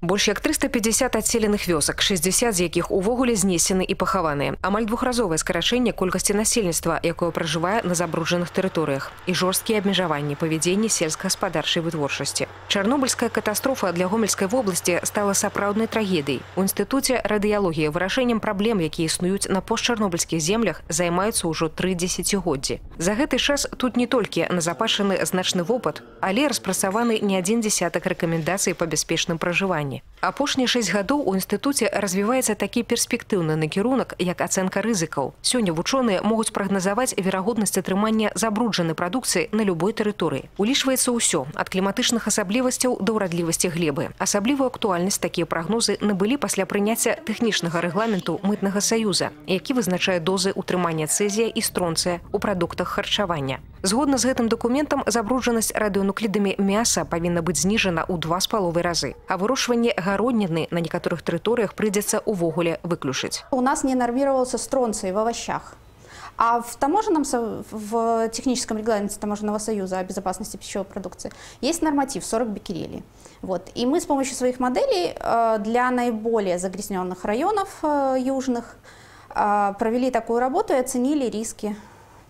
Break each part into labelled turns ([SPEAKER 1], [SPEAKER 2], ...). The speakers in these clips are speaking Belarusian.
[SPEAKER 1] Больш як 350 адселеных вёсак, 60 з якіх увогуле знесены і пахаваныя. Амаль двухразовае скарачэнне колькасці насельніцтва, якое пражывае на забруджаных тэрыторыях, і жорсткія абмежаванні павядзення сельскагаспадарчай вытворчасці. Чарнобыльская катастрофа для Гомельскай вобласці стала сапраўднай трагедыяй. У інстытуце радыялогіі вырашэннем праблем, якія існуюць на постчарнобыльскіх землях, займаюцца ўжо 3 дзесяцігоддзі. За гэты час тут не толькі назапашаны значны вопыт, але распрацаваны не адзін дзесятак рэкамендацый па бяспечным пражыванні. Апошнія 6 гадоў у інстытуце развіваецца такі перспектыўны накірунак, як ацэнка рызыкаў. Сёння вучоныя могуць прагназаваць верагоднасць атрымання забруджанай прадукцыі на любой тэрыторыі. Улічваецца ўсё, ад кліматычных асаблівасцяў да ўрадлівасці глебы. Асаблівую актуальнасць такія прагнозы набылі пасля прыняцця тэхнічнага рэгламенту Мытнага саюза, які вызначае дозы ўтрымання цэзія і стронцыя ў прадуктах харчавання. Згодна з гэтым дакументам, забруджанасць радыёнуклідамі мяса павінна быць зніжана ў 2,5 разы, а вырошчванне гародніны на некаторых тэрыторыях прыйдзецца увогуле выключыць.
[SPEAKER 2] У нас не нормировался стронций в овощах. А в техническом регламенте Таможенного союза о безопасности пищевой продукции есть норматив 40 беккерелей. Вот. И мы с помощью своих моделей для наиболее загрязненных районов южных провели такую работу и оценили риски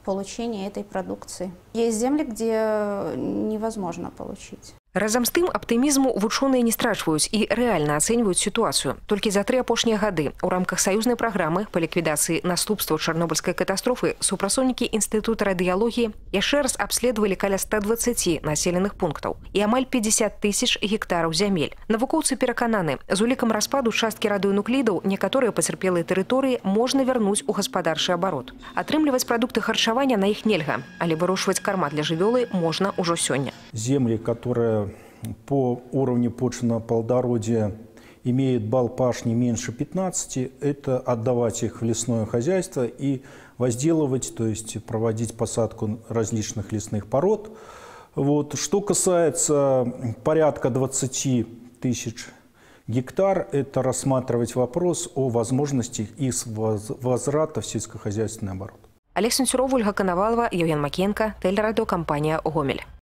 [SPEAKER 2] получения этой продукции. Есть земли, где невозможно получить.
[SPEAKER 1] Разам з тым, аптымізму вучоныя не страчваюць і рэальна ацэньваюць сітуацыю. Толькі за 3 апошнія гады у рамках саюзнай праграмы па ліквідацыі наступстваў чарнобыльскай катастрофы супрацоўнікі інстытута радыялогіі яшчэ раз абследавалі каля 120 населеных пунктаў і амаль 50 000 гектараў зямель. Навукоўцы перакананы, з улікам распаду часткі радыёнуклідаў некаторыя пацярпелыя тэрыторыі можна вярнуць у гаспадарчы абарот. Атрымліваць прадукты харчавання на іх нельга, але вырошчваць карма для жывёлы можна ўжо сёння.
[SPEAKER 3] Земли, которые по уровню почвенного плодородия имеют балл паш не меньше 15, это отдавать их в лесное хозяйство и возделывать, то есть проводить посадку различных лесных пород. Вот. Что касается порядка 20 000 гектар, это рассматривать вопрос о возможности их возврата в сельскохозяйственный оборот.
[SPEAKER 1] Олег Сенцюров, Ольга Коновалова, Евген Макеенко, телерадиокомпания «Гомель».